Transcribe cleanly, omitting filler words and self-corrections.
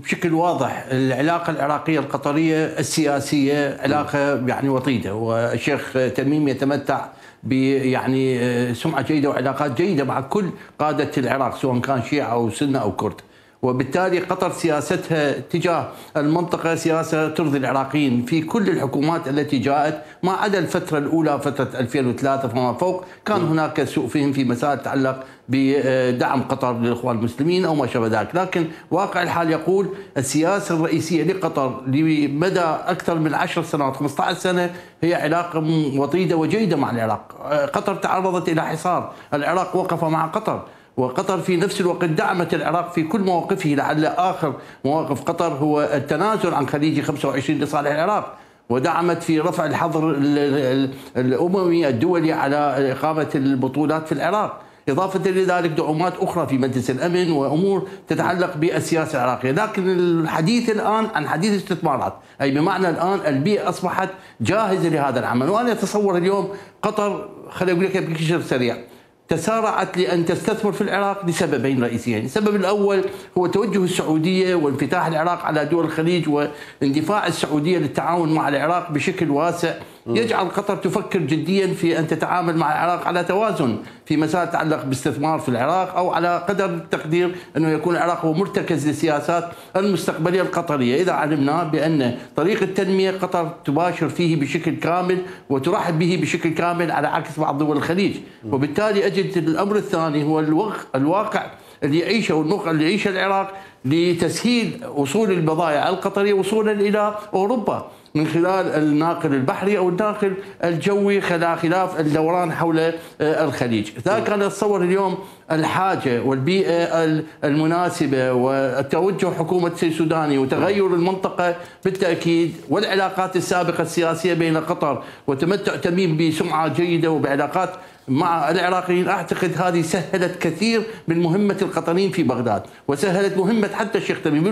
بشكل واضح العلاقة العراقية القطرية السياسية علاقة يعني وطيدة، والشيخ تميم يتمتع يعني سمعة جيدة وعلاقات جيدة مع كل قادة العراق سواء كان شيعة أو سنة أو كرد، وبالتالي قطر سياستها تجاه المنطقة سياسة ترضي العراقيين في كل الحكومات التي جاءت، ما عدا الفترة الأولى فترة 2003 فما فوق كان هناك سوء فهم في مسائل تتعلق بدعم قطر للإخوان المسلمين أو ما شابه ذلك، لكن واقع الحال يقول السياسة الرئيسية لقطر لمدى أكثر من 10 سنوات 15 سنة هي علاقة وطيدة وجيدة مع العراق. قطر تعرضت إلى حصار، العراق وقف مع قطر، وقطر في نفس الوقت دعمت العراق في كل مواقفه، لعل آخر مواقف قطر هو التنازل عن خليجي 25 لصالح العراق، ودعمت في رفع الحظر الأممي الدولي على إقامة البطولات في العراق، إضافة لذلك دعومات أخرى في مجلس الأمن وأمور تتعلق بالسياسة العراقية. لكن الحديث الآن عن حديث استثمارات، أي بمعنى الآن البيئة أصبحت جاهزة لهذا العمل. وأنا أتصور اليوم قطر، خليني أقول لك بشكل سريع، تسارعت لأن تستثمر في العراق لسببين رئيسيين. السبب الأول هو توجه السعودية وانفتاح العراق على دول الخليج واندفاع السعودية للتعاون مع العراق بشكل واسع، يجعل قطر تفكر جديا في أن تتعامل مع العراق على توازن في مسائل تتعلق باستثمار في العراق، أو على قدر التقدير أنه يكون العراق هو مرتكز للسياسات المستقبلية القطرية، إذا علمنا بأن طريق التنمية قطر تباشر فيه بشكل كامل وترحب به بشكل كامل على عكس بعض دول الخليج. وبالتالي أجد الأمر الثاني هو الواقع اللي يعيشه والموقع اللي يعيشه العراق لتسهيل وصول البضائع القطرية وصولا إلى أوروبا من خلال الناقل البحري أو الناقل الجوي، خلاف الدوران حول الخليج. ذاك أنا أتصور اليوم الحاجة والبيئة المناسبة والتوجه حكومة السيد السوداني وتغير المنطقة بالتأكيد، والعلاقات السابقة السياسية بين قطر وتمتع تميم بسمعة جيدة وبعلاقات مع العراقيين، أعتقد هذه سهلت كثير من مهمة القطريين في بغداد وسهلت مهمة حتى الشيخ تميم.